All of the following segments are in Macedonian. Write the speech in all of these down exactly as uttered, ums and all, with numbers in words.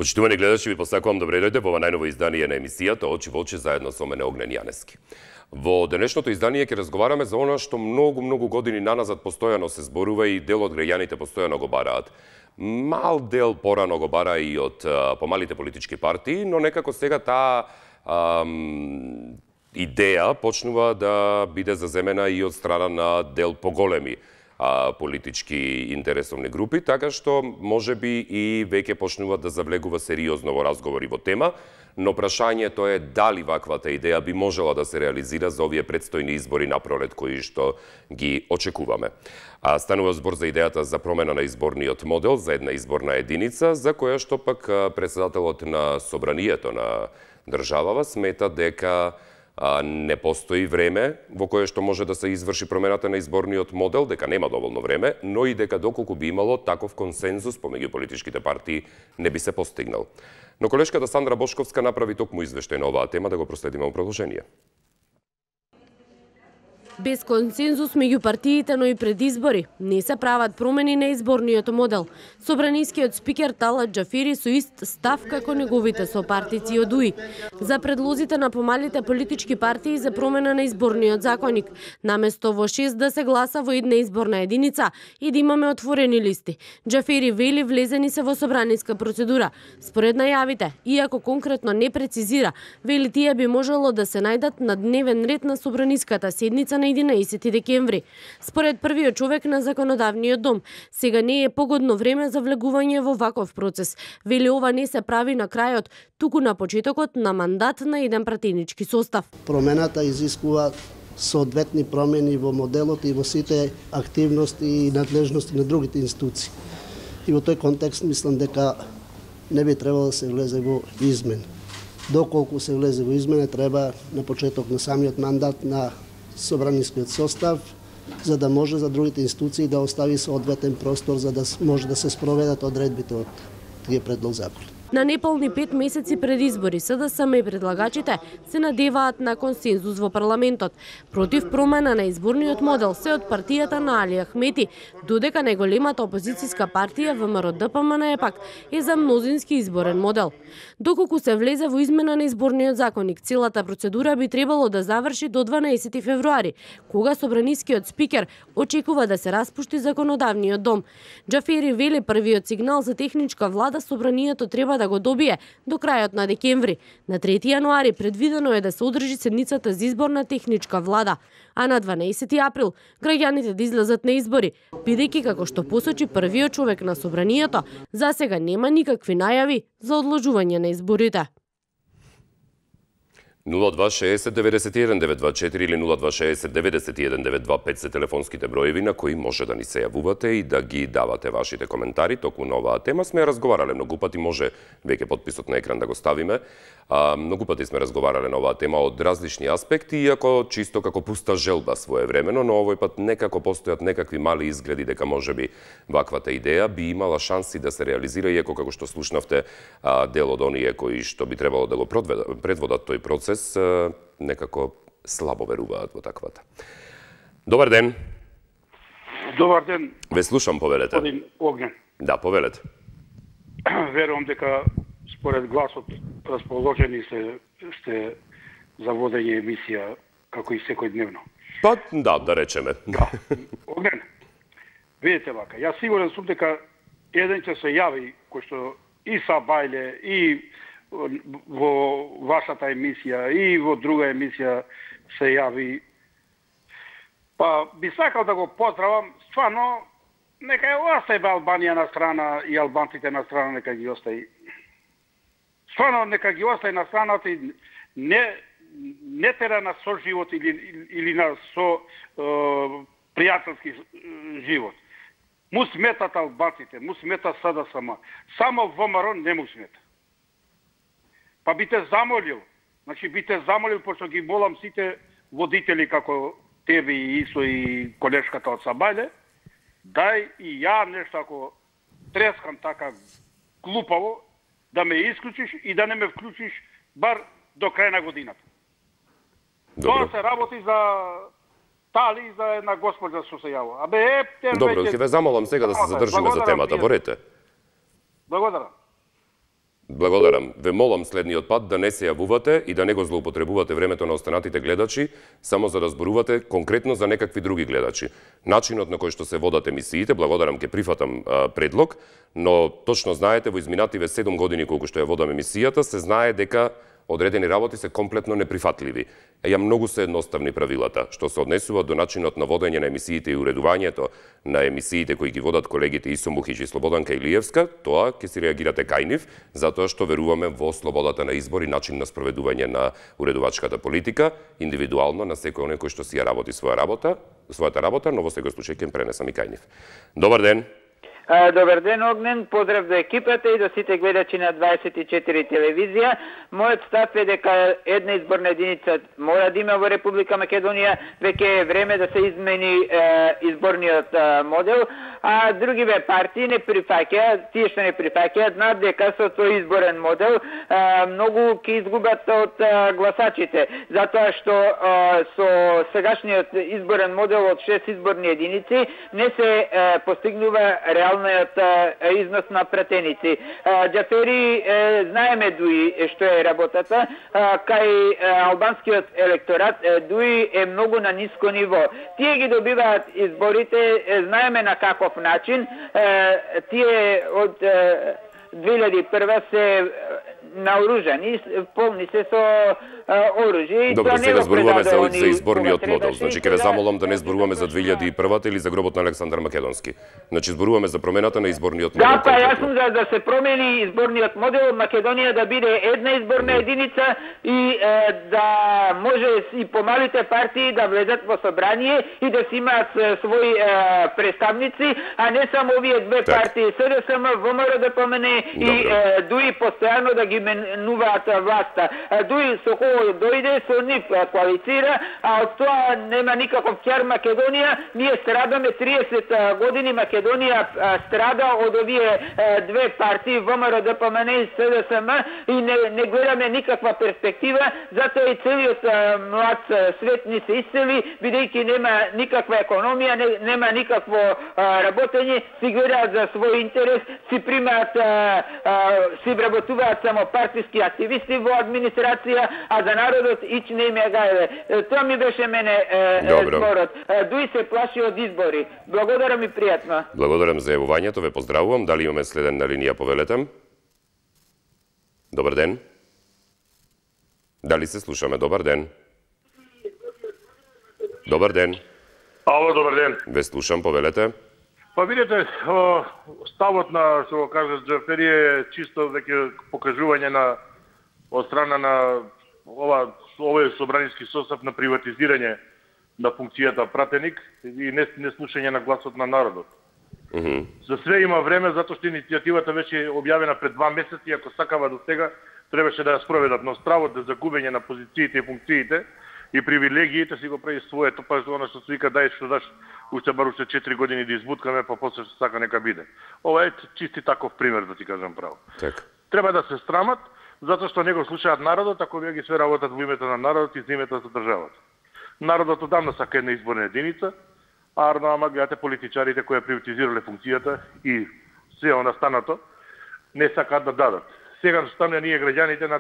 Почитувани гледачи, ви посакувам добре дојде во ова најново издание на емисијата Очи во очи заедно со мене Огнен Јанески. Во денешното издание ќе разговараме за она што многу, многу години наназад постојано се зборува и дел од граѓаните постојано го бараат. Мал дел порано го бара и од а, помалите политички партии, но некако сега таа ам, идеја почнува да биде заземена и од страна на дел поголеми а, политички интересовни групи, така што можеби и веќе почнува да завлегува сериозно во разговори во тема, но прашањето е дали ваквата идеја би можела да се реализира за овие предстојни избори на пролет кои што ги очекуваме. А станува збор за идејата за промена на изборниот модел за една изборна единица, за која што пак претседателот на собранието на државава смета дека а, не постои време во кое што може да се изврши промената на изборниот модел, дека нема доволно време, но и дека доколку би имало таков консензус помеѓу политичките партии не би се постигнал. Но колешката Сандра Бошковска направи токму извештај на оваа тема, да го проследиме во продолжение. Без консензус меѓу партиите, но и пред избори, не се прават промени на изборниот модел. Собранискиот спикер Талат Џафери со ист став како неговите сопартици од УИ за предлозите на помалите политички партии за промена на изборниот законник, наместо во шест да се гласа во една изборна единица и да имаме отворени листи. Џафери вели влезени се во собраниска процедура. Според најавите, иако конкретно не прецизира, вели тие би можело да се најдат на дневен ред на собраниската седница на единаесети декември. Според првиот човек на законодавниот дом, сега не е погодно време за влегување во ваков процес. Вели ова не се прави на крајот, туку на почетокот на мандат на еден пратенички состав. Промената изискува соодветни промени во моделот и во сите активности и надлежности на другите институции. И во тој контекст мислам дека не би требало да се влезе во измена. Доколку се влезе во измена, треба на почеток на самиот мандат на собранискиот состав, за да може за другите институции да остави соодветен простор за да може да се спроведат одредбите од тие предлог закони. На неполни пет месеци пред избори, СДСМ и предлагачите се надеваат на консензус во парламентот. Против промена на изборниот модел се од партијата на Али Ахмети, додека најголемата опозицијска партија ВМРО Д П М Н пак е за мнозински изборен модел. Доколку се влезе во измена на изборниот законник, целата процедура би требало да заврши до дванаесети февруари, кога собранискиот спикер очекува да се распушти законодавниот дом. Џафери вели првиот сигнал за техничка влада собранието треба да го добие до крајот на декември. На трети јануари предвидено е да се одржи седницата за избор на техничка влада, а на дванаесети април граѓаните да излезат на избори, бидејќи како што посочи првиот човек на собранието, за сега нема никакви најави за одложување на изборите. нула два шеесет деветдесет и еден девет два четири или нула два шеесет деветдесет и еден девет два пет се телефонските броеви на кои може да ни се јавувате и да ги давате вашите коментари току на оваа тема. Сме разговарале многу пати, може веќе подписот на екран да го ставиме. А, многу пати сме разговарале на оваа тема од различни аспекти, иако чисто како пуста желба своевремено, но овој пат некако постојат некакви мали изгледи дека можеби ваквата идеја би имала шанси да се реализира, иако како што слушнавте а, дел од оние кои што би требало да го предводат тој процес некако слабо веруваат во таквата. Добар ден. Добар ден. Ве слушам, повелете. Господин Огнен. Да, повелете. Верувам дека според гласот расположени се сте за водење емисија како и секој дневно. Па, да, да речеме. Да. Огнен, видите вака, јас сигурен сум дека еден ќе се јави кој што и са Бајле, и во вашата емисија и во друга емисија се јави. Па би сакал да го поздравам, стварно нека ја остави Албанија на страна и албанците на страна, нека ги остави. Стварно нека ги остави на страната и не не тера на соживот или или на со е, пријателски живот. Му сметат албанците, му смета СДСМ. Само ВМРО не му смета. Па би те замолил, значи би те замолил, пошто ги молам сите водители како тебе и Исо и колешката од Сабајле, дај и ја нешто ако трескам така глупаво, да ме исклучиш и да не ме вклучиш бар до крај на годината. Тоа се работи за Тали и за една госпоđа што се јава. Абе, ептер, добро, ќе ве замолам сега да се задржиме за темата. Ворете. Благодарам. Благодарам. Ве молам следниот пат да не се јавувате и да не го злоупотребувате времето на останатите гледачи, само за да зборувате конкретно за некакви други гледачи. Начинот на кој што се водат емисиите, благодарам, ќе прифатам а, предлог, но точно знаете, во изминативе седум години колку што ја водам емисијата, се знае дека одредени работи се комплетно неприфатливи. Ја многу се едноставни правилата, што се однесува до начинот на водење на емисиите и уредувањето на емисиите кои ги водат колегите Исо Мухич и Слободанка Илиевска, тоа ќе си реагирате кај нив, затоа што веруваме во слободата на избор и начин на спроведување на уредувачката политика, индивидуално на секој оној кој што си ја работи своја работа, својата работа, но во секој случај ќе пренесам и кај нив. Добар ден. Добар ден, Огнен, поздрав до екипата и до сите гледачи на дваесет и четири телевизија. Мојот став е дека една изборна единица мора да има во Република Македонија, веќе е време да се измени е, изборниот е, модел, а другиве партии не прифаќаат, тие што не прифаќаат, знаат дека со тој изборен модел е, многу ќе изгубат од е, гласачите, затоа што е, со сегашниот изборен модел од шест изборни единици не се е, постигнува реално износ на пратеници. Џафери знаеме дуи што е работата, кај албанскиот електорат дуи е многу на ниско ниво. Тие ги добиваат изборите, знаеме на каков начин, тие од две илјади и прва се наоружани, полни се со оружје. Добро, сега зборуваме за, за изборниот модел. Значи, ќе ве замолам да не зборуваме за две илјади и прва или за гробот на Александар Македонски. Значи, зборуваме за промената на изборниот модел. Да, па јас сум за да се промени изборниот модел, Македонија да биде една изборна единица и е, да може и помалите партии да влезат во собрание и да си имаат своји е, представници, а не само овие две так. партии, СДСМ, ВМРО да помене и е, дуи постојано да ги менуваат власта. Дуи со кој дојде, со нив коалицира, а од тоа нема никаков ќар Македонија. Ние страдаме триесет години, Македонија страда од овие две партии, ВМРО да помене и СДСМ, и не, не гледаме никаква перспектива, затоа и целиот млад свет ни се исцели, бидејќи нема никаква економија, не, нема никакво работење, си гледаат за свој интерес, си примаат, си вработуваат само партиски активисти во администрација, а за народот ич не им ја гајле. Тоа ми беше мене зборот. Дуи се плаши од избори. Благодарам и пријатно. Благодарам за јавувањето, ве поздравувам. Дали имаме следен на линија, повелете? Добар ден. Дали се слушаме? Добар ден. Добар ден. Ало, добар ден. Ве слушам, повелете. Па видите, ставот на, што го кажа Џафери, е чисто веќе покажување на од страна на ова овој собраниски состав на приватизирање на функцијата пратеник и не, не слушање на гласот на народот. Mm -hmm. За све има време, затоа што иницијативата веќе е објавена пред два месеци, ако сакава до сега, требаше да ја спроведат, но стравот за загубење на позициите и функциите и привилегиите си го прави своето, па она што се вика дај што даш, уште бар уште четири години да избуткаме, па после што сака нека биде. Ова е чисти таков пример, да ти кажам право. Так. Треба да се страмат, затоа што не го слушаат народот, ако вие ги све работат во името на народот и за името за државата. Народот одамна сака една изборна единица, а ама гледате политичарите кои ја приватизирале функцијата и се онастанато не сакаат да дадат. Сега стане ние граѓаните на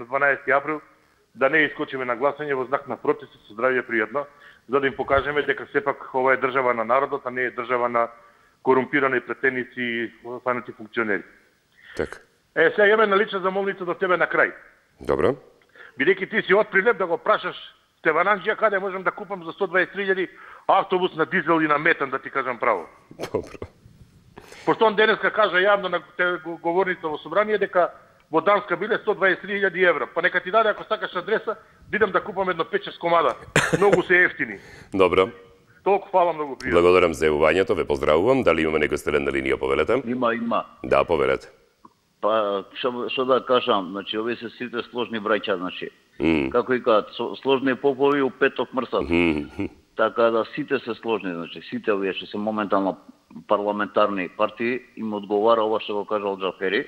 дванаесети април да не искочиме на гласање во знак на протест со здравје пријатно, за да им покажеме дека сепак ова е држава на народот, а не е држава на корумпирани претеници и фанати функционери. Так. Е, сега имаме налична замолница до тебе на крај. Добро. Бидејќи ти си од Прилеп да го прашаш Стевананџија каде можам да купам за сто дваесет три илјади автобус на дизел и на метан, да ти кажам право. Добро. Пошто он денеска кажа јавно на говорница во собрание дека во Данска биле сто дваесет три илјади евра. Па нека ти даде ако сакаш адреса, бидам да купам едно пет-шест комада. Многу се ефтини. Добро. Толку фала, многу пријатно. Благодарам за јавувањето, ве поздравувам. Дали имаме некој стелен на линија, повелете? Има, има. Да, повелете. Па, што, што да кажам, значи, овие се сите сложни браќа, значи. Mm. Како и кажат, сложни попови у петок мрсат. Mm. Така да сите се сложни, значи, сите овие што се моментално парламентарни партии им одговара ова што го кажал Џафери.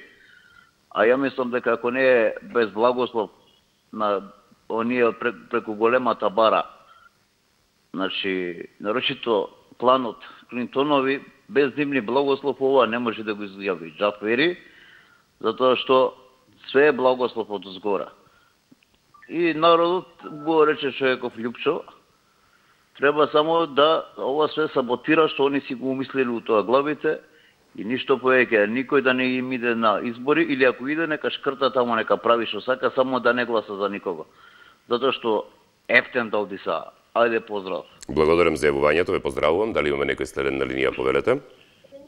А ја мислам дека ако не е без благослов на оние преку големата бара, значи, нарочито планот Клинтонови, без нивни благослов ова не може да го изјави Џафери, затоа што све е благослов од згора. И народот го рече човеков Љупчо, треба само да ова све саботира што они си го умислили у тоа главите и ништо повеќе, никој да не им иде на избори или ако иде нека шкрта тамо, нека прави што сака, само да не гласа за никого. Затоа што ефтен долди са. Ајде, поздрав. Благодарам за јавувањето, ве поздравувам. Дали имаме некој следен на линија, повелете?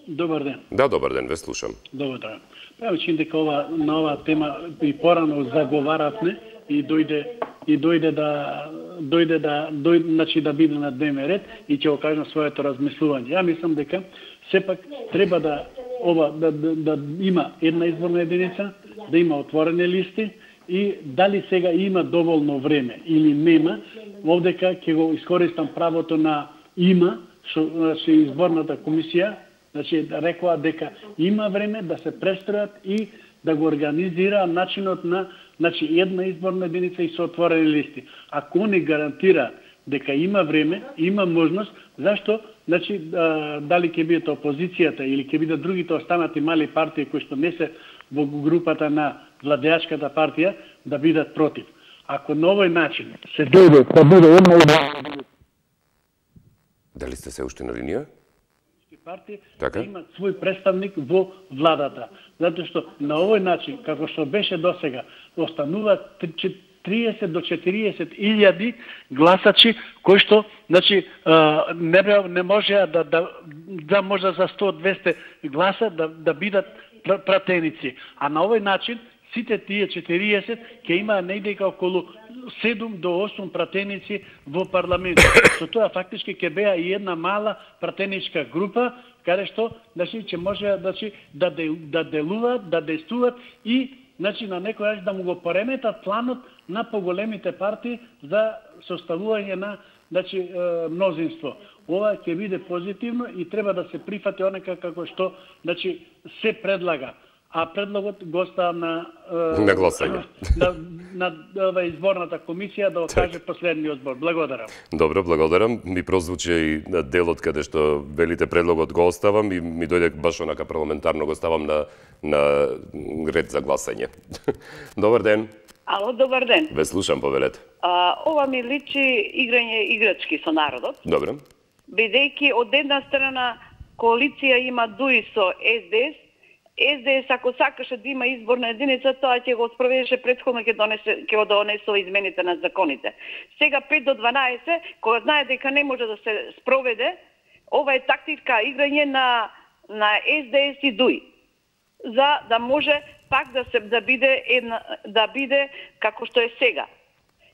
Добар ден. Да, добар ден, ве слушам. Добар ден. Правим чин дека ова на оваа тема и порано заговаравме и дојде и дојде да дојде да дојде значи да биде на дневен ред и ќе го кажам своето размислување. Ја мислам дека сепак треба да ова да, да, да има една изборна единица, да има отворени листи и дали сега има доволно време или нема, овдека ќе го искористам правото на има, што значи изборната комисија, значи рекоа дека има време да се престројат и да го организира начинот на значи една изборна единица и со отворени листи. Ако они гарантира дека има време, има можност, зашто значи дали ќе биде опозицијата или ќе бидат другите останати мали партии кои што не се во групата на владеачката партија да бидат против. Ако на овој начин се дојде да биде една изборна Дали сте се уште на линија? партии така? Да имат свој представник во владата. Затоа што на овој начин, како што беше досега, остануваат триесет до четириесет илјади гласачи кои што значи не не можеа да да да може за сто до двесте гласа да да бидат пратеници. А на овој начин сите тие четириесет ќе има недека околу седум до осум пратеници во парламентот. Со тоа фактички ќе беа и една мала пратеничка група каде што значи ќе може значи да да делуваат, да действуваат и значи на некој начин да му го пореметат планот на поголемите партии за составување на значи мнозинство. Ова ќе биде позитивно и треба да се прифати онека како што значи се предлага. А предлогот го оставам на на гласање. На, на, на изборната комисија да окаже последниот збор. Благодарам. Добро, благодарам. Ми прозвучи и делот каде што велите предлогот го оставам и ми дојде баш онака парламентарно го ставам на на ред за гласање. Добар ден. Ало, добар ден. Ве слушам, повелете. А, ова ми личи играње играчки со народот. Добро. Бидејќи од една страна коалиција има дуи со Ес Де Ес, Ес Де Ес ако сакаше да има изборна единица, тоа ќе го спроведеше претходно, ќе донесе ќе го донесе измените на законите. Сега пет до дванаесет, кога знае дека не може да се спроведе, ова е тактика играње на на Ес Де Ес и дуи. За да може пак да се да биде една да биде како што е сега.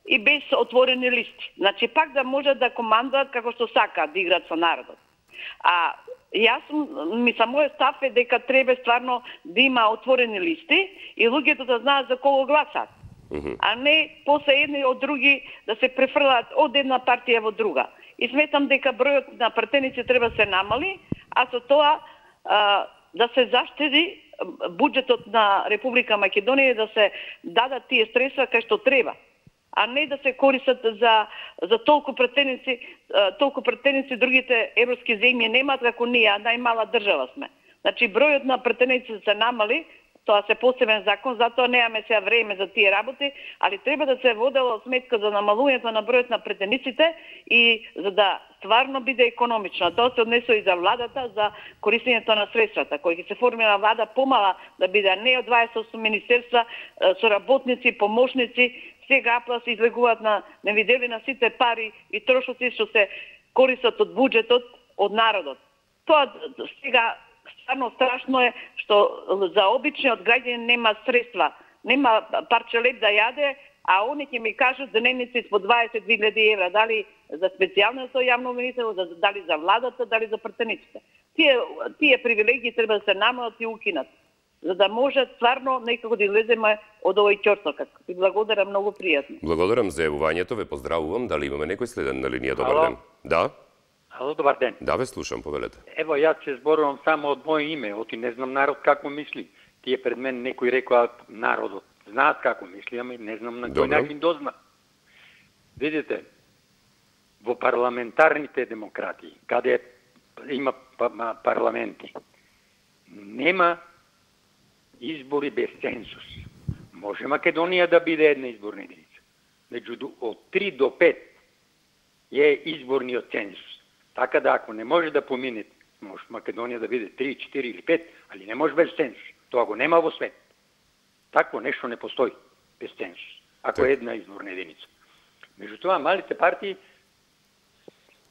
И без отворени листи. Значи пак да може да командуваат како што сакаат да играат со народот. А јас мислам, мојот став е дека треба стварно да има отворени листи и луѓето да знаат за кого гласаат. Mm-hmm. А не после едни од други да се префрлаат од една партија во друга. И сметам дека бројот на пратеници треба се намали, а со тоа а, да се заштеди буџетот на Република Македонија, да се дадат тие средства кај што треба, а не да се користат за за толку пратеници, толку пратеници другите европски земји немаат како ние, а најмала држава сме. Значи бројот на пратеници се намали, тоа се посебен закон, затоа немаме сега време за тие работи, али треба да се водела сметка за намалувањето на бројот на пратениците и за да стварно биде економично. Тоа се однесува и за владата, за користењето на средствата, кои ќе се формира влада помала да биде, не од дваесет и осум министерства со работници, помошници, сега апла се излегуваат на невидели на сите пари и трошоци што се користат од буџетот, од народот. Тоа сега стварно страшно е што за обичниот граѓанин нема средства, нема парче леп да јаде, а они ќе ми кажат дневници по дваесет илјади евра, дали за специјалното јавно министерство, дали за владата, дали за пратениците. Тие тие привилегии треба да се намалат и укинат, за да може стварно некако да излеземе од овој ќорсокак. И благодарам, многу пријатно. Благодарам за јавувањето, ве поздравувам. Дали имаме некој следен на линија? Добар Ало. ден. Да? Ало, добар ден. Да, ве слушам, повелете. Ево, јас се зборувам само од моје име, оти не знам народ како мисли. Тие пред мен некои рекоа народот. Знаат како мисли, ама не знам на кој начин дозна. Видите, во парламентарните демократии, каде има парламенти, нема избори без цензус. може Македонија да биде една изборна единица. Меѓу од три до пет е изборниот цензус. Така да ако не може да помине, може Македонија да биде три, четири или пет, али не може без цензус. Тоа го нема во свет. Такво нешто не постои без цензус, ако е една изборна единица. Меѓутоа, малите партии,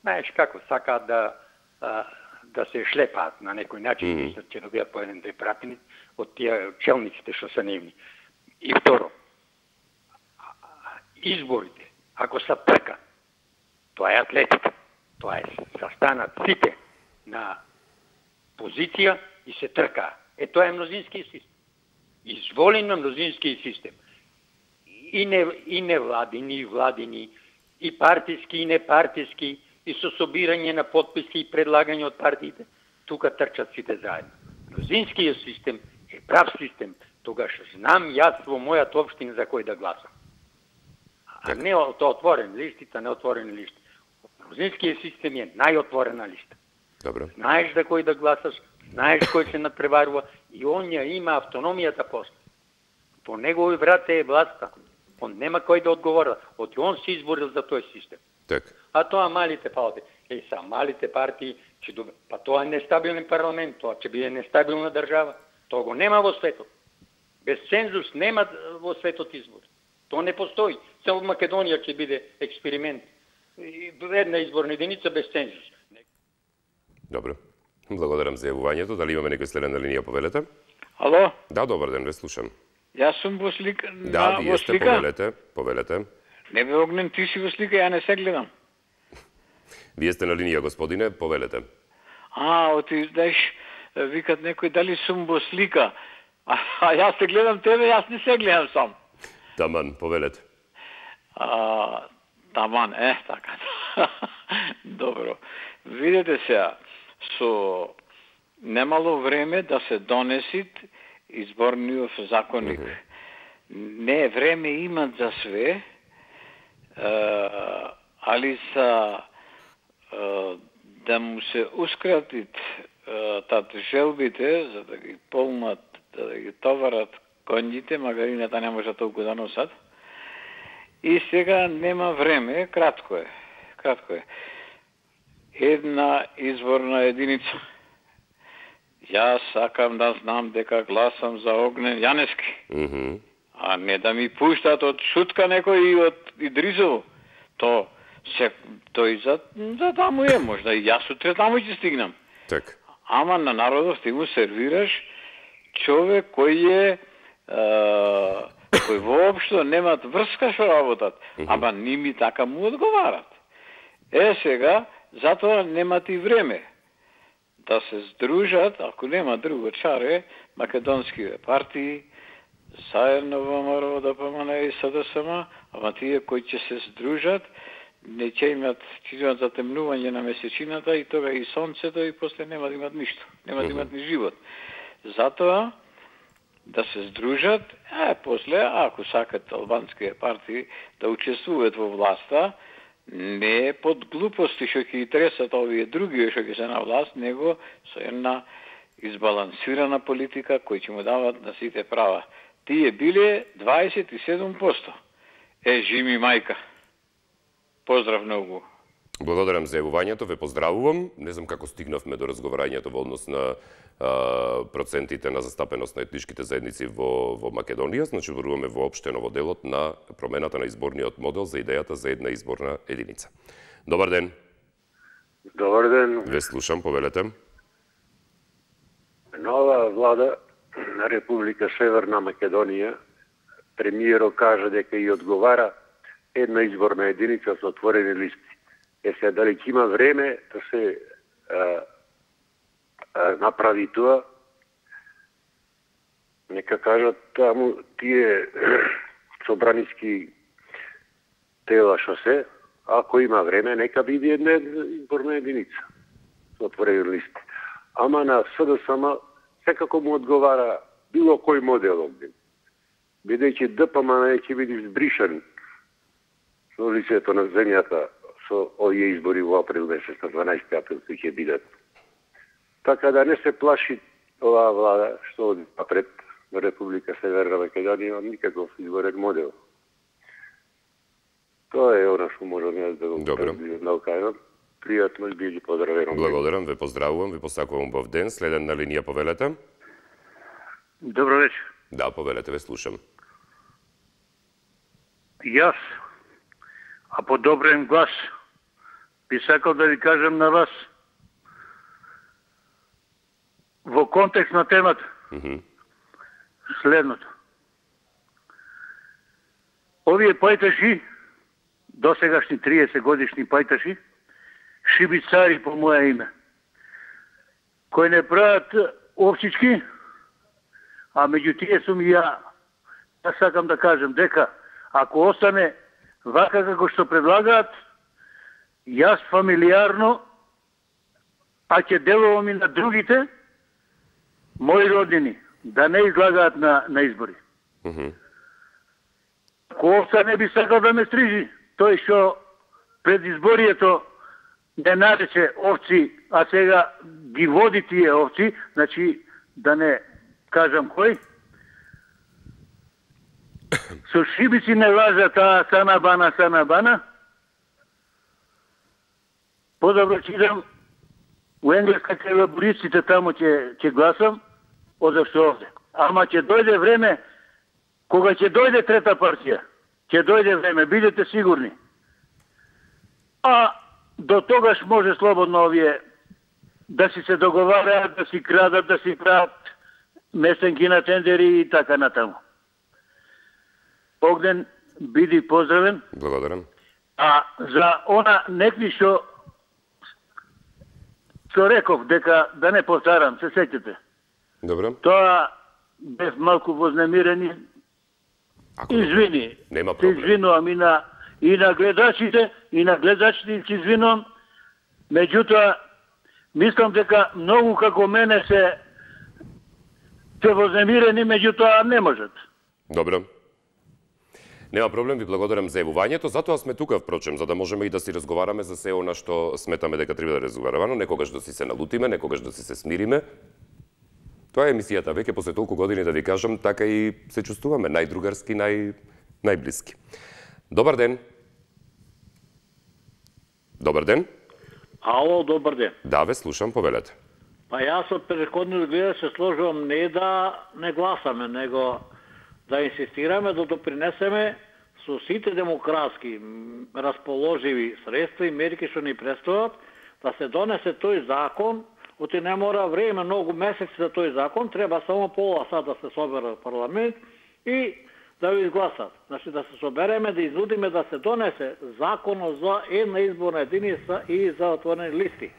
знаеш како, сакаат да, а, да се шлепаат на некој начин, mm -hmm. ќе добијат по еден две пратени од тие челниците што се нивни. И второ, изборите, ако се трка, тоа е атлетика. Тоа е застанат сите на позиција и се трка. Е, тоа е мнозински систем. Изволен на мнозински систем. И не, и невладини, и владини, и партиски, и непартиски, и со собирање на подписи и предлагање од партиите. Тука трчат сите заедно. Мнозинскиот систем е прав систем. Тогаш знам јас во мојата општина за кој да гласам. А не од отворен листите, не отворени листи. Мнозинскиот систем е најотворена листа. Добро. Знаеш за кој да гласаш, знаеш кој се надпреварува и он ја има автономијата после. По негови врата е власта. Он нема кој да одговора. Оти он се изборил за тој систем. Так. А тоа малите партии. Е, са малите партии, че доб... па тоа е нестабилен парламент, тоа ќе биде нестабилна држава. Тоа го нема во светот. Без цензус нема во светот избор. Тоа не постои. Само Македонија ќе биде експеримент. Една изборна единица без цензус. Добро. Благодарам за јавувањето. Дали имаме некој следен на линија, повелете? Ало? Да, добар ден, ве слушам. Јас сум во слика. Да, вие сте, повелете, повелете. Не бе Огнен, ти си во слика, ја не се гледам. Вие сте на линија, господине, повелете. А, оти, знаеш, викат некој дали сум во слика. А, а јас се гледам тебе, јас не се гледам сам. Таман, повелете. А, таман, е, така. Добро. Видете сега, со немало време да се донесит изборниот законник. Mm -hmm. Не е време имат за све, а, али са а, да му се ускратит тат желбите, за да ги полнат, да ги товарат конјите, магарината не може толку да носат. И сега нема време, кратко е. Кратко е. Една изборна единица. Јас сакам да знам дека гласам за Огнен Јанески. Mm -hmm. А не да ми пуштат од Шутка некој и од Идризово. То се тој за, за таму е, можда и јас утре таму ќе стигнам. Так. Ама на народот ти му сервираш човек кој е а, кој воопшто немат врска со работат, mm -hmm. ама ними така му одговарат. Е сега, затоа немат и време да се здружат, ако нема друго чаре, македонските партии, заедно ВМРО, ДПМН и СДСМ, ама тие кои ќе се здружат, не ќе имат, ќе имат затемнување на месечината и тога и сонцето и после нема да имат ништо, нема да имат ни живот. Затоа, да се здружат, а после, ако сакат албанските партии да учествуваат во власта, не е под глупости што ќе ги тресат овие други што ќе се на власт, него со една избалансирана политика кој ќе му дават на сите права. Тие биле дваесет и седум проценти. Е, жими мајка. Поздрав многу. Благодарам за јавувањето, ве поздравувам. Не знам како стигнавме до разговарањето во однос на а, процентите на застапеност на етничките заедници во, во Македонија. Значи, зборуваме воопштено во делот на промената на изборниот модел за идејата за една изборна единица. Добар ден. Добар ден. Ве слушам, повелете. Нова влада на Република Северна Македонија, премиерот кажа дека и одговара една изборна единица со отворени листи. Е се дали ќе има време да се а, а, направи тоа, нека кажат таму тие собраниски тела што се, ако има време, нека биде една изборна единица со отворени листи. Ама на СДСМ секако му одговара било кој модел овде. Бидејќи ДПМН ќе биде избришан со лицето на земјата со овие избори во април месец, на дванаесети април кои ќе бидат. Така да не се плаши оваа влада што оди напред, Република Северна Македонија нема никаков изборен модел. Тоа е оно што можам јас да го наукајам. Пријатно и бије поздравено. Благодарам, ве поздравувам, ви посакувам убав ден. Следен на линија, повелете. Добро вечер. Да, повелете, ве слушам. Јас, а по добрен глас, би сакал да ви кажам на вас, во контекст на темата, Mm-hmm. следното. Овие пајташи, досегашни триесет годишни пајташи, шибицари по моја име, кои не прават овчички, а меѓу тие сум и ја. Јас сакам да кажем дека ако остане вака како што предлагаат, јас фамилиарно, а ќе делувам и на другите мои роднини да не излагаат на, на избори. Mm-hmm. Ако овца не би сакал да ме стрижи, тој што пред изборието не нарече овци, а сега ги води тие овци, значи да не кажам кој, со шибици не лажа таа сана бана, сана бана, подобро ќе идам у Енглеска кај лабористите, таму ќе ќе гласам, одошто овде. Ама ќе дојде време, кога ќе дојде трета партија, ќе дојде време, бидете сигурни. А до тогаш може слободно овие да си се договараат, да си крадат, да си прават месенки на тендери и така натаму. Огнен, биди поздравен. Благодарам. А за она некви што што реков, дека да не повторам, се сеќате. Добро. Тоа бев малку вознемирени. Ако извини. Нема проблем. Извинувам и на и на гледачите, и на гледачите се извинувам. Меѓутоа, мислам дека многу како мене се се вознемирени, меѓутоа не можат. Добро. Нема проблем, ви благодарам за јавувањето, затоа сме тука, впрочем, за да можеме и да си разговараме за се она што сметаме дека треба да разговараме, некогаш да си се налутиме, некогаш да си се смириме. Тоа е емисијата, веќе после толку години да ви кажам, така и се чувствуваме најдругарски, нај најблиски. Добар ден. Добар ден. Ало, добар ден. Да, ве слушам, повелете. Па јас од претходниот гледач се сложувам не да не гласаме, него да инсистираме да допринесеме со сите демократски расположиви средства и мерки што ни престојат, да се донесе тој закон, оти не мора време, многу месеци за тој закон, треба само пола сат да се собере парламент и да го изгласат. Значи да се собереме, да излудиме да се донесе законот за една изборна единица и за отворени листи.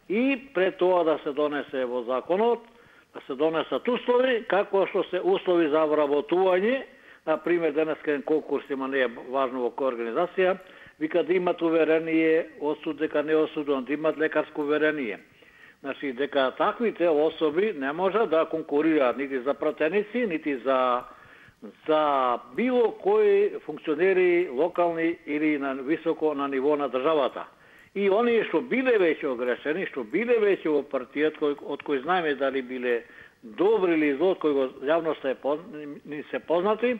И пред тоа да се донесе во законот, да се донесат услови, како што се услови за вработување, например, денескен конкурс има, не е важно во која организација, вика да имат уверение, осуд дека не осуден, да имат лекарско уверение. Значи, дека таквите особи не може да конкурираат нити за пратеници, нити за за било кои функционери локални или на високо на ниво на државата. И оние што биле веќе огрешени, што биле веќе во партијат, кој, од кои знаеме дали биле добри или зло, кои го јавноста е ни се познати,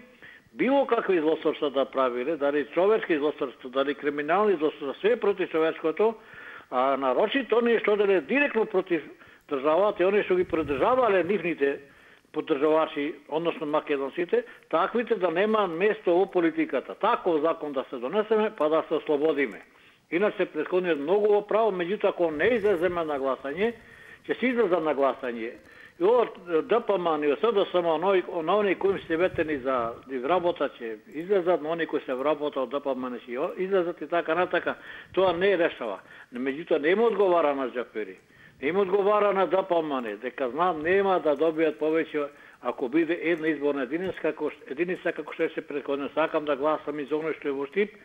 било какви злосторства да правиле, дали човечки злосторства, дали криминални злосторства, све против човечкото, а нарочито оние што деле директно против државата и оние што ги поддржавале нивните поддржавачи, односно македонците, таквите да нема место во политиката. Таков закон да се донесеме, па да се ослободиме. Иначе претходниот многу во право, меѓутоа ако не излеземе на гласање, ќе се излеза на гласање. И од ДПМ и од СДСМ, на оние кои се ветени за вработа ќе излезат, на оние кои се вработа од ДПМ не ќе излезат и така натака. Тоа не решава. Меѓутоа не им одговара на Џафери. Не им одговара на ДПМ, дека знам нема да добијат повеќе ако биде една изборна единица како единица како што се претходно. Сакам да гласам и за оној што е во Штип,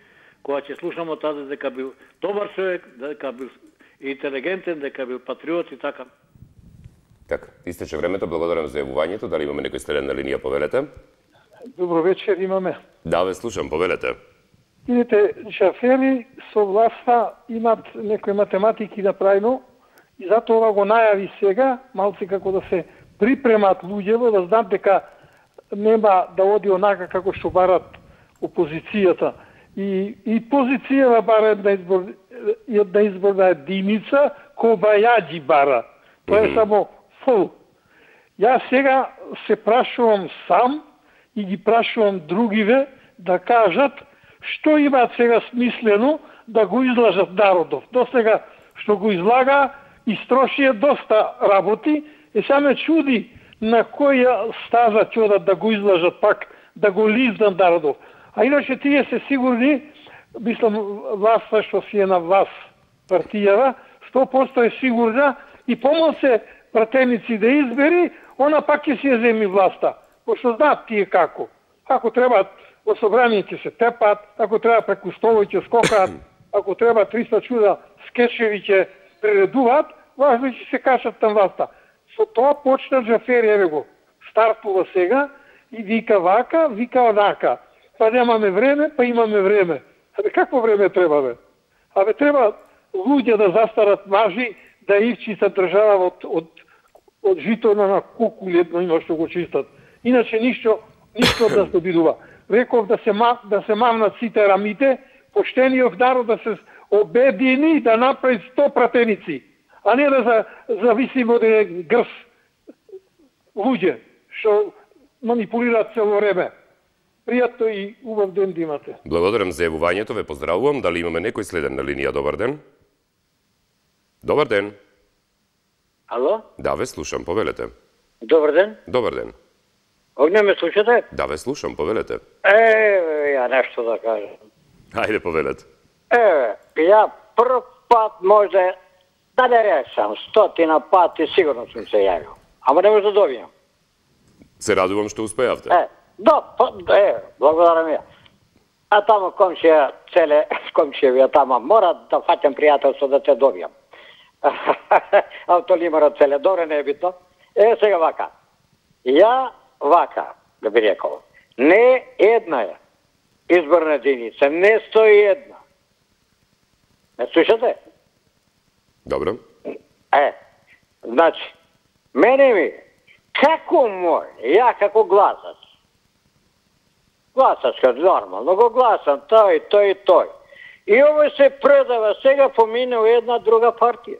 кога ќе слушам од тази дека бил добар човек, дека бил интелигентен, дека бил патриот и така. Така, истече времето, благодарам за јавувањето. Дали имаме некој следен на линија, повелете? Добро вечер, имаме. Да, ве слушам, повелете. Видите, Џафери со власта имат некои математики направено и затоа ова го најави сега, малце како да се припремат луѓево, да знаат дека нема да оди онака како што барат опозицијата. И, и позицијава бара една, избор, една изборна единица, Кобајаджи бара. Тоа е mm-hmm. само фул. Јас сега се прашувам сам и ги прашувам другиве да кажат што имаат сега смислено да го излажат народов. До сега што го излага, истрошија доста работи и сега ме чуди на која стаза ќе одат да го излажат пак, да го лизнат народов. А иначе тие се сигурни, мислам, власта што си е на власт партијава, сто проценти е сигурна и помал се пратеници да избери, она пак ќе си ја земи власта. Пошто знаат тие како. Ако треба во собрание ќе се тепат, ако треба преку столови ќе скокаат, ако треба триста чуда скечеви ќе прередуваат, важно ќе се качат на власта. Со тоа почна Џафери, еве го, стартува сега и вика вака, вика онака. Па немаме време, па имаме време. Абе какво време треба, бе? Абе треба луѓе да застарат мажи, да ивчистат држава од, од, од жито на кукули, едно има што го чистат. Иначе ништо, ништо да се обидува. Реков да се, да се мавнат сите рамите, поштениот народ да се обедини да направи сто пратеници, а не да за, зависимо од грс луѓе што манипулираат цело време. Пријатно и убав ден да имате. Благодарам за јавувањето, ве поздравувам. Дали имаме некој следен на линија? Добар ден. Добар ден. Ало? Да, ве слушам, повелете. Добар ден. Добар ден. Огне ме слушате? Да, ве слушам, повелете. Е, ја нешто да кажам. Хајде, повелете. Е, ја прв пат може да не речам, стотина пати сигурно сум се јавил. Ама не може да добијам. Се радувам што успеавте. Е, да, па, е, благодарам ја. А тамо комшија, целе комшија тамо, мора да фаќам пријателство да те добијам. Автолимара целе, добре, не е битно. Е, сега вака. Ја вака, да би рекол, не една е изборна единица, не стои една. Не слушате? Добро. Е, значи, мене ми, како може, ја како гласач, гласач като нормално, го гласам тој, тој, тој. И овој се предава, сега помине у една друга партија.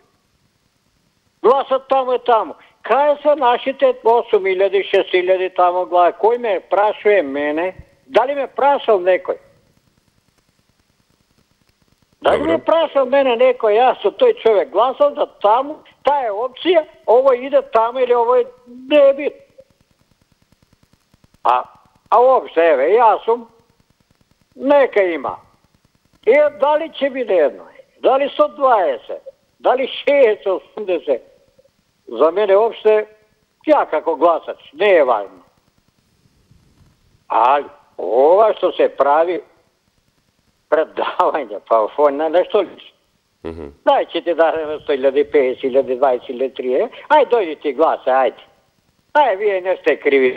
Гласат тамо и тамо. Кај се нашите осум илјади, шест илјади тамо гласа? Кој ме прашува мене? Дали ме прашал некој? Дали ме прашал мене некој? Јас со тој човек гласам да таму, таа е опција, овој иде таму или овој не е бит. А, а обште, еве, јас сум, нека има. И дали ќе биде едно? Дали сто дваесет? Дали шеесет, осумдесет? За мене обште, ја како гласач, не е важно. Али, ова што се прави, предавање, па на нешто лично. Mm-hmm. Дај, ќе ти дадеме сто илјади, петдесет илјади, дваесет илјади, тридесет, ај дојди ти гласа, ајде. Ај, вие не сте криви.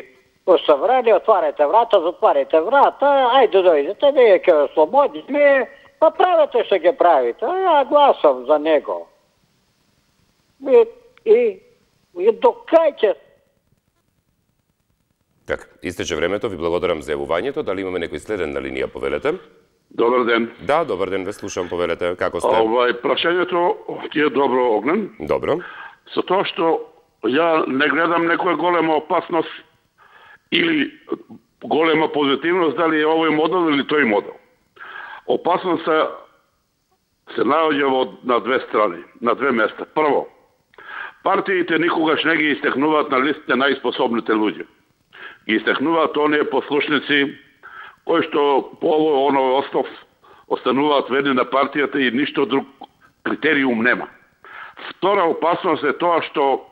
Во собрание, отварете врата, затварете врата, ајде дојдете, вие ќе ослободите, па правете што ќе правите, ја гласам за него. И, и, и до кај ќе... Така, истече времето, ви благодарам за јавувањето. Дали имаме некој следен на линија, повелете? Добар ден. Да, добар ден, ве слушам, повелете. Како сте? Овај, прашањето ти е добро, Огнен. Добро. Со тоа што ја не гледам некоја голема опасност или голема позитивност, дали е овој модел или тој модел. Опасност се, се наоѓа на две страни, на две места. Прво, партиите никогаш не ги истекнуваат на листите најспособните луѓе. Ги истекнуваат оние послушници кои што по ово оно основ остануваат верни на партијата и ништо друг критериум нема. Втора опасност е тоа што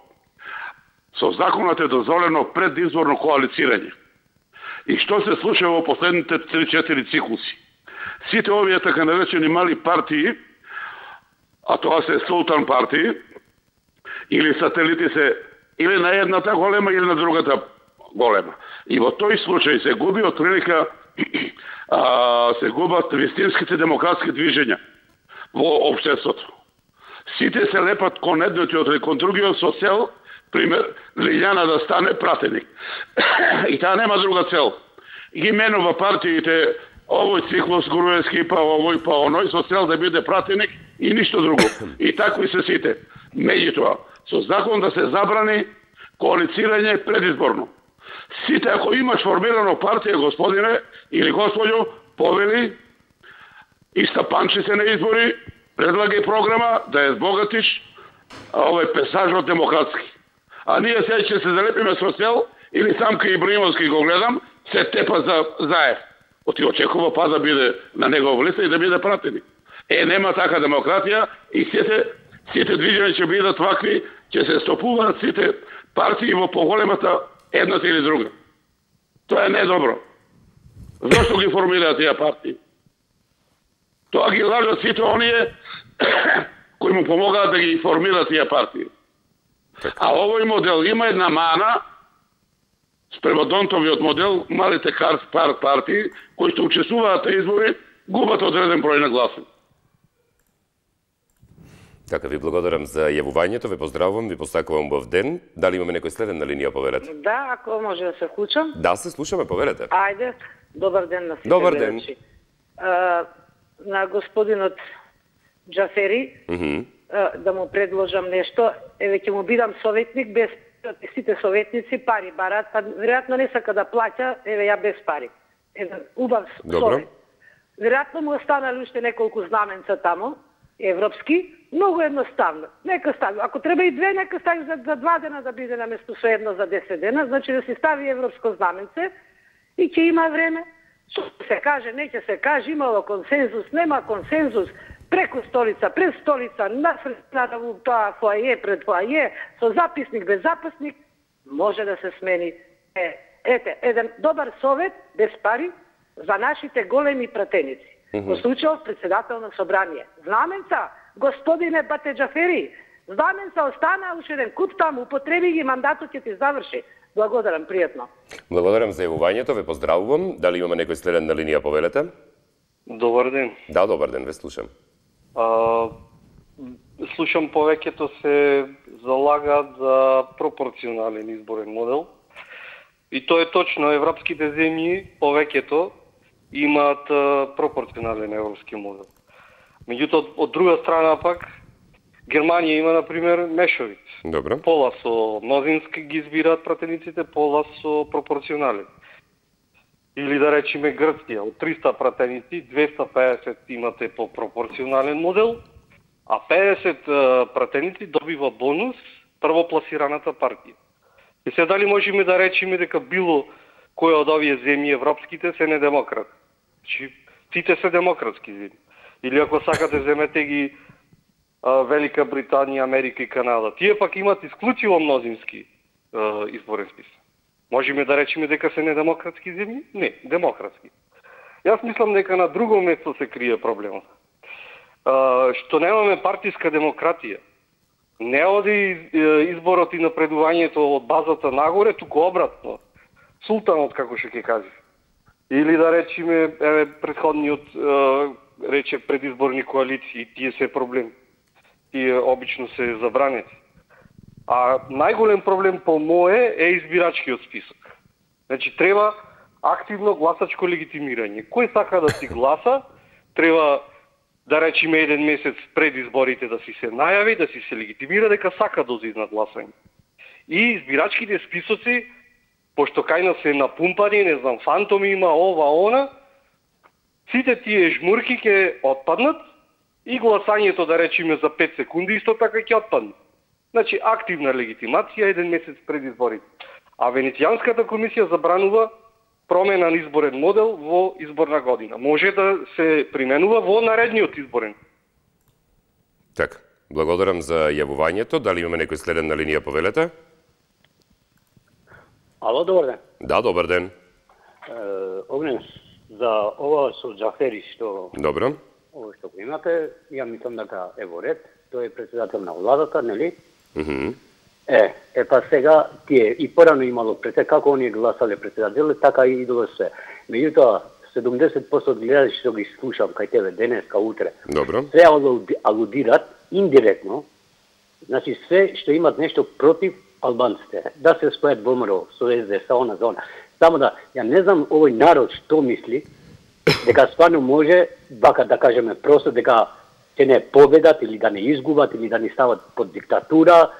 со законот е дозволено предизборно коалицирање. И што се случува во последните три-четири циклуси? Сите овие така наречени мали партии, а тоа се султан партии, или сателити се или на едната голема или на другата голема. И во тој случај се губи од прилика а, се губат вистинските демократски движења во општеството. Сите се лепат кон едното и кон другиот со цел пример, Лилјана да стане пратеник. И таа нема друга цел. Ги менува партиите, овој циклус Груевски, па овој, па оној, со цел да биде пратеник и ништо друго. И такви се сите. Меѓутоа, со закон да се забрани коалицирање предизборно. Сите, ако имаш формирано партија, господине или господјо, повели, истапанчи се на избори, предлагај програма да ја збогатиш овој песажот демократски. А ние сега ќе се залепиме со цел, или Самка Ибраимовски го гледам, се тепа за заев. Оти очекува па да биде на негова листа и да биде пратеник. Е, нема така демократија и сите, сите движења ќе бидат вакви, ќе се стопуваат сите партии во поголемата едната или друга. Тоа е недобро. Зошто ги формираат тие партии? Тоа ги лажат сите оние кои му помогаат да ги формираат тие партии. А овој модел има една мана, спрема Донтовиот модел, малите карт пар партии, кои што учествуваат на избори, губат одреден број на гласови. Така, ви благодарам за јавувањето, ве поздравувам, ви постакувам убав ден. Дали имаме некој следен на линија, поверете? Да, ако може да се вклучам. Да, се слушаме, поверете. Ајде, добар ден на сите. Добар ден. А, на господинот Џафери, Mm -hmm. а, да му предложам нешто. Еве ќе му бидам советник, без сите советници пари барат, па веројатно не сака да плаќа, еве ја без пари. Еве убав совет. Веројатно му останали уште неколку знаменца тамо, европски, многу едноставно. Нека стави, ако треба и две, нека стави за, за два дена да биде наместо со едно за десет дена, значи да си стави европско знаменце и ќе има време. Што се каже, не ќе се каже, имало консензус, нема консензус, преку столица, пред столица, на средина во тоа фоаје, пред фоаје, со записник, без записник, може да се смени. Е, ете, еден добар совет, без пари, за нашите големи пратеници. Mm -hmm. Во случајот председател на собрание. Знаменца, господине Бате Џафери, знаменца остана уште еден куп таму, употреби ги, мандатот ќе ти заврши. Благодарам, пријатно. Благодарам за јавувањето, ве поздравувам. Дали имаме некој следен на линија, повелете? Добар ден. Да, добар ден, ве слушам. А, слушам повеќето се залагаат за пропорционален изборен модел. И тоа е точно, европските земји, повеќето, имаат пропорционален европски модел. Меѓутоа, од друга страна пак, Германија има, например, мешовит. Добро. Пола со мнозински ги избираат пратениците, пола со пропорционален. Или да речеме Грција, од триста пратеници, двеста педесет имате по пропорционален модел, а педесет пратеници добива бонус првопласираната партија. И се дали можеме да речеме дека било која од овие земји европските се недемократ. Значи, сите се демократски земји. Или ако сакате земете ги а, Велика Британија, Америка и Канада. Тие пак имат исклучиво мнозински а, изборен спис. Можеме да речеме дека се недемократски земји? Не, демократски. Јас мислам дека на друго место се крие проблемот. А, што немаме партиска демократија. Не оди изборот и напредувањето од базата нагоре, туку обратно. Султанот, како што ќе каже. Или да речеме, еве, предходниот е, рече предизборни коалиции, тие се проблем. Тие обично се забранети. А најголем проблем по мое е избирачкиот список. Значи, треба активно гласачко легитимирање. Кој сака да си гласа, треба да речеме еден месец пред изборите да си се најави, да си се легитимира дека сака да оди на гласање. И избирачките списоци, пошто кај нас се напумпани, не знам, фантоми има, ова, она, сите тие жмурки ќе отпаднат и гласањето, да речеме, за пет секунди исто така ќе отпадне. Значи, активна легитимација еден месец пред изборите. А Венецијанската комисија забранува промена на изборен модел во изборна година. Може да се применува во наредниот изборен. Така, благодарам за јавувањето. Дали имаме некој следен на линија, повелете? Ало, добар ден. Да, добар ден. Е, Огнен, за ова со Џафери што... Добро. Ова што го имате, ја мислам дека е во ред. Тој е председател на владата, нели? Mm -hmm. Е, е па сега тие и порано имало прете како оние гласале председател, така и идоло се. Меѓутоа седумдесет проценти од гледачи што ги слушам кај тебе денеска, утре. Добро. Се алудират индиректно. Значи се што имат нешто против албанците, да се спојат ВМРО со С Д С, она зона. Само да, ја не знам овој народ што мисли, дека стварно може, вака да кажеме просто, дека ќе не победат или да не изгубат или да не стават под диктатура.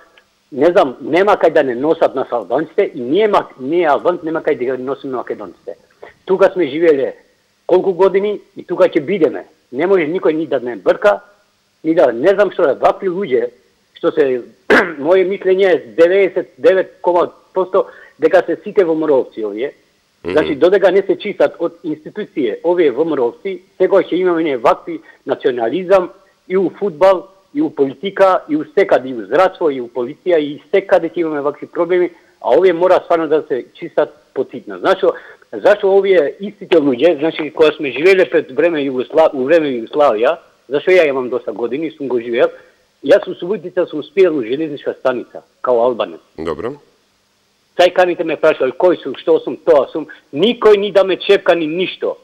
Не знам, нема кај да не носат нас албанците и ние, ние албанци нема кај да носиме македонците. Тука сме живееле колку години и тука ќе бидеме. Не може никој ни да не брка, ни да не знам што е вакви луѓе, што се моје мислење е деветдесет и девет проценти дека се сите ВМРО-овци овие. Значи, додека не се чистат од институције овие ВМРО-овци, секој ќе имаме не вакви национализам и у фудбал, и у политика, и у секаде, и у здравство, и у полиција, и секаде ќе имаме вакви проблеми, а овие мора стварно да се чистат потитно. Значи, зашто овие истите луѓе, значи, кога сме живееле пред време Југослав... у време Југославија, зашто ја имам доста години, сум го живеел, јас сум субудица сум спиел у железничка станица, као албанец. Добро. Цајканите ме прашали кој сум, што сум, тоа сум, никој ни да ме чепка ни ништо.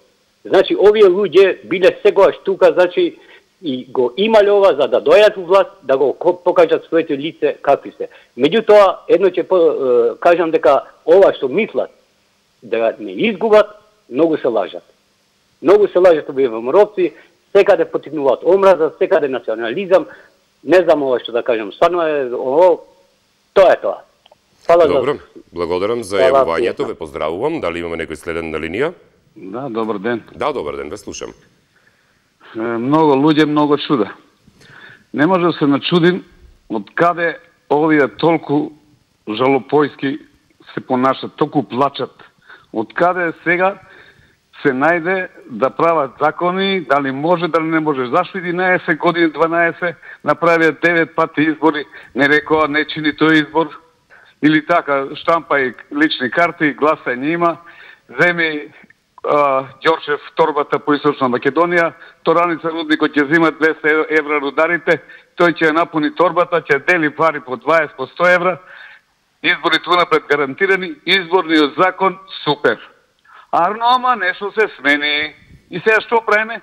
Значи, овие луѓе биле сегојаш тука, значи, и го имале ова за да дојдат у власт, да го покажат своите лице какви се. Меѓутоа, едно ќе по, кажам дека ова што мислат да не изгубат, многу се лажат. Многу се лажат овие ВМРО-овци, секаде потикнуваат омраза, секаде национализам, не знам ова што да кажам, стварно е, ово, тоа е тоа. Фала. Добро, за... благодарам за јавувањето, ве поздравувам. Дали имаме некој следен на линија? Да, добар ден. Да, добар ден, ве слушам. Е, многу луѓе, многу чуда. Не може да се начудим од каде овие толку жалопојски се понашат, толку плачат. Од каде сега се најде да прават закони, дали може, дали не може. Зашто единаесет години, дванаесет, направија девет пати избори, не рекоа, не чини тој избор, или така, штампај лични карти, гласај нима, земи Ѓорчев торбата по Источна Македонија, Тораница рудникот ќе зима двесте евра рударите, тој ќе напуни торбата, ќе дели пари по дваесет, по сто евра, изборите унапред гарантирани, изборниот закон супер. Арно, ама нешто се смени. И сега што правиме?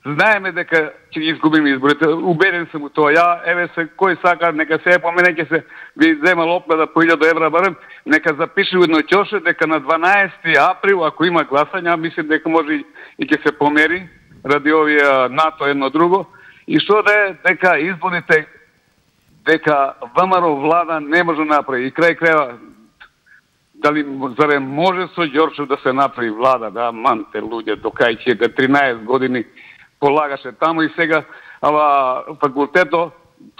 Знаеме дека ќе ги изгубиме изборите. Убеден сум у тоа. Ја, еве се, кој сака, нека се помене, ќе се ви зема лопка по илјада евра барем, нека запише едно ќоше дека на дванаесети април, ако има гласање, мислам дека може и ќе се помери ради овие НАТО едно друго. И што да е, дека изборите, дека ВМРО влада не може да направи. И крај крајва, дали заре може со Ѓорчев да се направи влада, да, манте луѓе, докај ќе тринаесет години полагаше таму и сега, ава факултето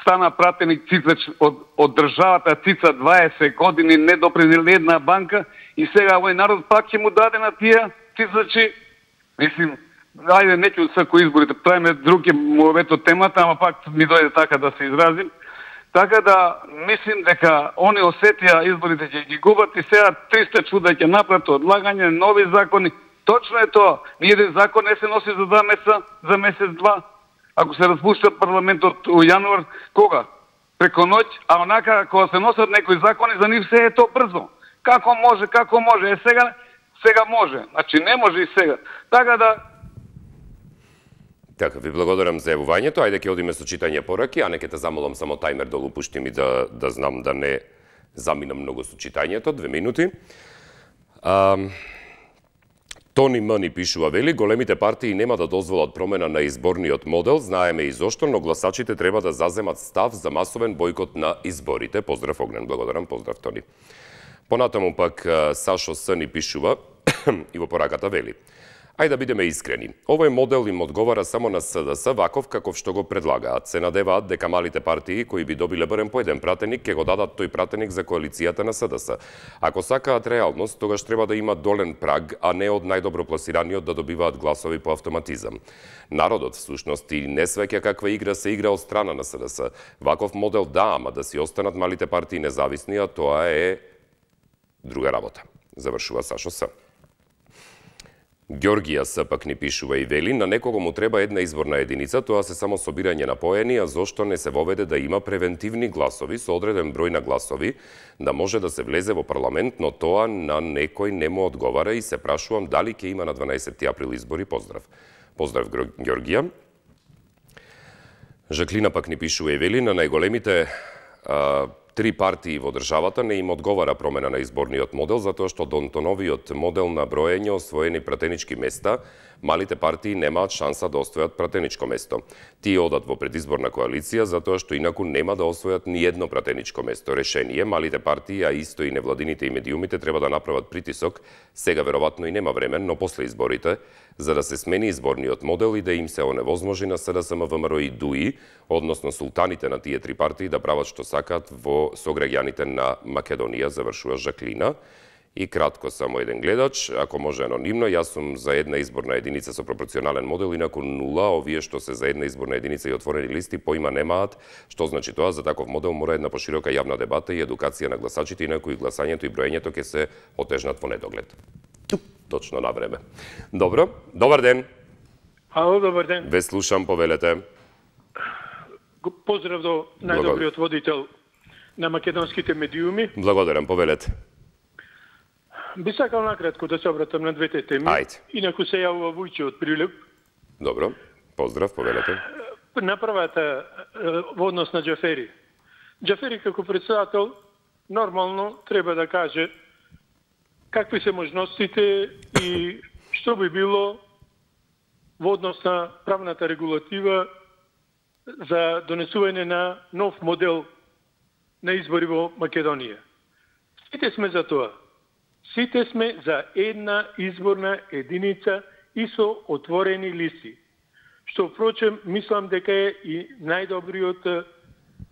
стана пратеник Цицач од, од државата Цица дваесет години, не допринел една банка и сега овој народ пак ќе му даде на тие Цицачи. Мислим, ајде не ќе секој изборите, правиме друг е мовето темата, ама пак ми дојде така да се изразим. Така да мислим дека они осетија изборите ќе ги губат и сега триста чуда ќе направат одлагање, нови закони. Точно е тоа. Ниједен закон не се носи за два месеца, за месец-два. Ако се распушта парламентот у јануар, кога? Преко ноќ, а онака кога се носат некои закони, за нив се е тоа брзо. Како може, како може? Е сега, сега може. Значи не може и сега. Така да... Така, ви благодарам за јавувањето. Ајде ќе одиме со читање пораки, а не ќе те замолам само тајмер долу пуштим и да, да знам да не заминам многу со читањето. Две минути. А... Тони М. ни пишува, вели, големите партии нема да дозволат промена на изборниот модел, знаеме и зошто, но гласачите треба да заземат став за масовен бојкот на изборите. Поздрав, Огнен, благодарам, поздрав, Тони. Понатаму пак Сашо С. ни пишува и во пораката вели, ајде да бидеме искрени, овој модел им одговара само на С Д С, ваков каков што го предлагаат. Се надеваат дека малите партии кои би добиле барем по еден пратеник, ќе го дадат тој пратеник за коалицијата на С Д С. Ако сакаат реалност, тогаш треба да имат долен праг, а не од најдобро пласираниот да добиваат гласови по автоматизам. Народот, всушност, и не свеќа каква игра се игра од страна на С Д С. Ваков модел да, ама да си останат малите партии независни, а тоа е друга работа. Завршува Сашо С. Ѓоргија С. пак ни пишува и вели, на некого му треба една изборна единица, тоа се само собирање на поени, а зошто не се воведе да има превентивни гласови со одреден број на гласови, да може да се влезе во парламент, но тоа на некој не му одговара и се прашувам дали ќе има на дванаесети април избори. Поздрав. Поздрав, Ѓоргија. Жаклина пак ни пишува и вели, на најголемите а, три партии во државата не им одговара промена на изборниот модел, затоа што до новиот модел на броење освоени пратенички места, малите партии немаат шанса да освојат пратеничко место. Тие одат во предизборна коалиција затоа што инаку нема да освојат ни едно пратеничко место. Решение, малите партии, а исто и невладините и медиумите треба да направат притисок, сега веројатно и нема време, но после изборите, за да се смени изборниот модел и да им се оневозможи на СДСМ, ВМРО и ДУИ, односно султаните на тие три партии, да прават што сакаат во сограѓаните на Македонија, завршува Жаклина. И кратко само еден гледач, ако може анонимно, јас сум за една изборна единица со пропорционален модел, инаку нула, овие што се за една изборна единица и отворени листи поима немаат. Што значи тоа? За таков модел мора една поширока јавна дебата и едукација на гласачите, инаку и гласањето и броењето ќе се отежнат во недоглед. Точно на време. Добро, добар ден. Ало, добар ден. Ве слушам, повелете. Поздрав до најдобриот водител на македонските медиуми. Благодарам, повелете. Би сакал накратко да се обратам на двете теми. Ајде. Инаку се јавува Вујче од Прилеп. Добро, поздрав, повелете. На првата во однос на Џафери. Џафери како председател нормално треба да каже какви се можностите и што би било во однос на правната регулатива за донесување на нов модел на избори во Македонија. Сите сме за тоа. Сите сме за една изборна единица и со отворени листи. Што, впрочем, мислам дека е и најдобриот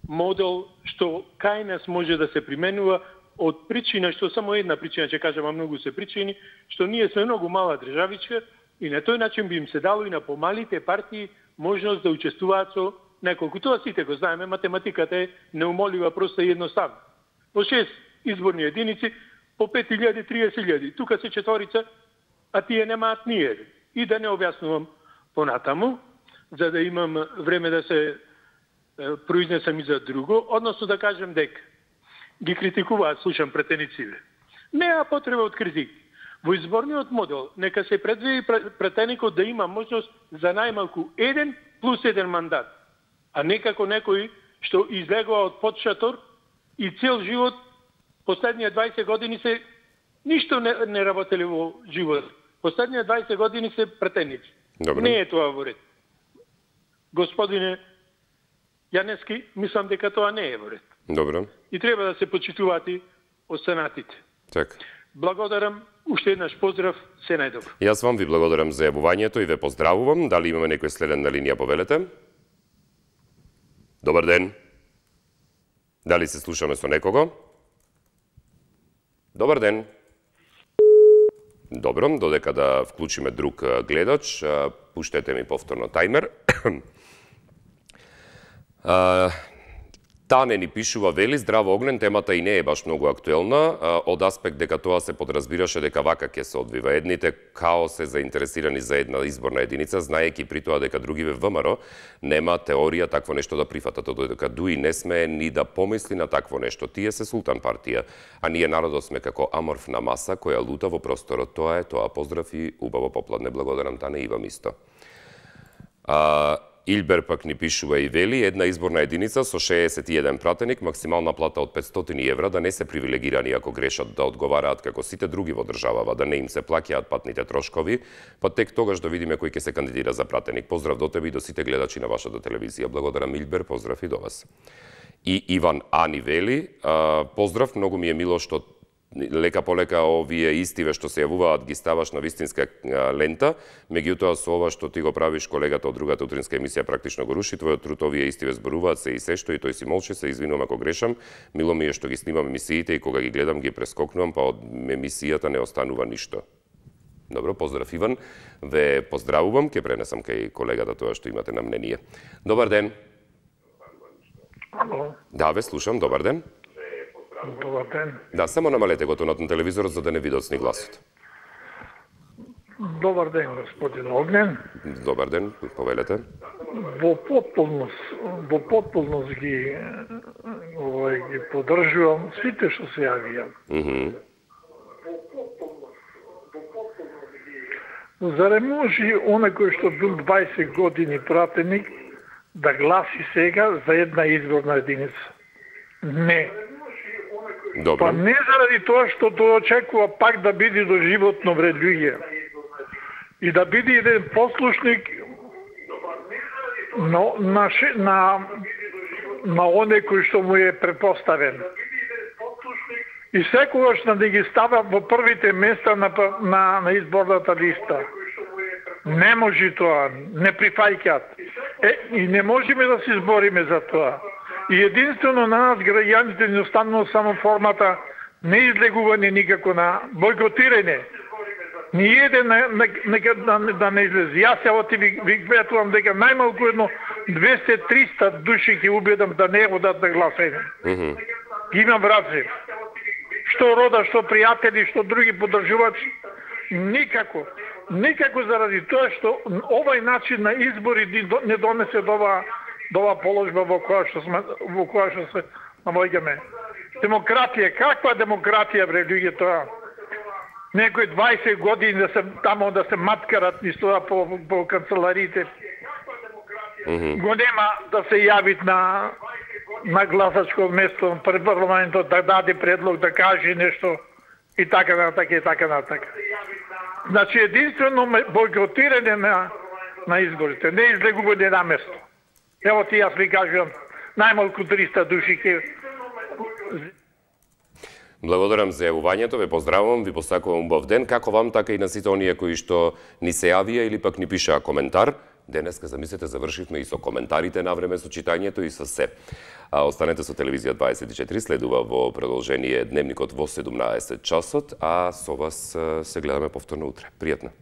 модел што кај нас може да се применува од причина, што само една причина, ќе кажам, а многу се причини, што ние сме многу мала државичка и на тој начин би им се дало и на помалите партии можност да учествуваат со неколку. Тоа сите го знаеме, математиката е неумолива, проста и едноставна. Во шест изборни единици, по пет илјади, триесет илјади. Тука се четворица, а тие немаат ни еден. И да не објаснувам понатаму, за да имам време да се е, произнесам и за друго, односно да кажем дека ги критикуваат, слушам претениците. Неа потреба од критики. Во изборниот модел нека се предвиди претеникот да има можност за најмалку еден плюс еден мандат, а не како некој што излегува од подшатор и цел живот последниот дваесет години се ништо не, не работели во живот. Последниот дваесет години се претеници. Добре. Не е тоа во ред. Господине Јанески, мислам дека тоа не е во ред. Добро. И треба да се почитуваат и останатите. Така. Благодарам, уште еднаш поздрав, се најдобро. Јас вам ви благодарам за јавувањето и ве поздравувам. Дали имаме некој следен на линија, повелете? Добар ден. Дали се слушаме со некого? Добар ден. Добро, додека да вклучиме друг гледач, пуштете ми повторно тајмер. Тане ни пишува, вели, здраво Огнен, темата и не е баш многу актуелна, од аспект дека тоа се подразбираше дека вака ќе се одвива. Едните као се заинтересирани за една изборна единица, знаеки при тоа дека другиве ВМРО нема теорија такво нешто да прифатат, додека ДУИ не смее ни да помисли на такво нешто. Тие се султан партија, а ние народот сме како аморфна маса која лута во просторот. Тоа е тоа. Поздрав и убаво попладне. Благодарам, Тане, и вам исто. А, Илбер пак ни пишува и вели, една изборна единица со шеесет и еден пратеник, максимална плата од петстотини евра, да не се привилегирани ако грешат, да одговараат како сите други во државава, да не им се плаќаат патните трошкови, па тек тогаш да видиме кој ќе се кандидира за пратеник. Поздрав до тебе и до сите гледачи на вашата телевизија. Благодарам, Илбер, поздрав и до вас. И Иван Ани вели, а, поздрав, многу ми е мило што лека полека овие истиве што се јавуваат ги ставаш на вистинска лента, меѓутоа со ова што ти го правиш колегата од другата утринска емисија практично го руши твојот труд, овие истиве зборуваат се и се што и тој си молчи, се извинувам ако грешам. Мило ми е што ги снимам емисиите и кога ги гледам ги прескокнувам, па од емисијата не останува ништо. Добро, поздрав Иван, ве поздравувам, ќе пренесам кај колегата тоа што имате на мнение. Добар ден. Ало. Да, ве слушам, добар ден. Добар ден. Да, само намалете го тонот на телевизорот за да не видат сни гласот. Добар ден, господин Огнен. Добар ден, повелете. Во потполност, во потполност ги овој ги поддржувам сите што се јавија. Мхм. Заре може оној кој што бил дваесет години пратеник да гласи сега за една изборна единица? Не. Добро. Па не заради тоа што тоа очекува пак да биде доживотно вред луѓе. И да биде еден послушник но, на, на, на оне кој што му е предпоставен. И секогаш да ги става во првите места на, на, на изборната листа. Не може тоа, не прифаќат. Е, и не можеме да се избориме за тоа. И единствено на нас граѓаните не останува само формата не излегување никако на бойкотирање. Ни еден нека да, да не излезе. Јас се оти ви, ви ветувам дека најмалку едно двесте до триста души ќе убедам да не одат да гласање. Mm -hmm. Ги имам врази. Што рода, што пријатели, што други подржувачи. Никако. Никако заради тоа што овај начин на избори не донесе до ова, до ова положба во која што сме во која што се наоѓаме. Демократија, каква демократија бре луѓе тоа? Некои двајсет години да се тамо да се маткарат низ тоа по, по канцелариите. Mm -hmm. Го нема да се јави на на гласачко место пред парламентот да даде предлог, да каже нешто и така натака и така натака. Значи единствено бойкотирање на на изборите, не излегување на место. Ево ти јас ви кажувам, најмалку триста души ќе. Благодарам за јавувањето, ве поздравувам, ви посакувам убав ден, како вам, така и на сите оние кои што ни се јавија или пак ни пишаа коментар. Денеска, замислете, завршивме и со коментарите на време, со читањето и со се. А останете со Телевизија дваесет и четири, следува во продолжение Дневникот во седумнаесет часот, а со вас се гледаме повторно утре. Пријатно!